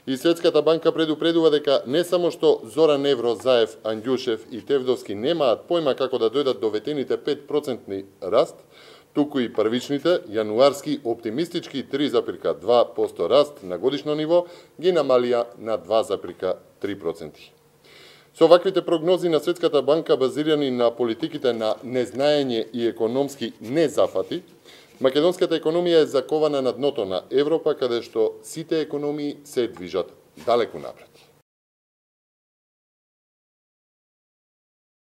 И Светската банка предупредува дека не само што Зоран Евро, Заев, Андјушев и Тевдовски немаат појма како да дојдат до ветените 5% раст, туку и првичните, јануарски оптимистички 3,2% раст на годишно ниво ги намалија на 2,3%. Со ваквите прогнози на Светската банка, базирани на политиките на незнаење и економски незафати, македонската економија е закована на дното на Европа, каде што сите економии се движат далеку напред.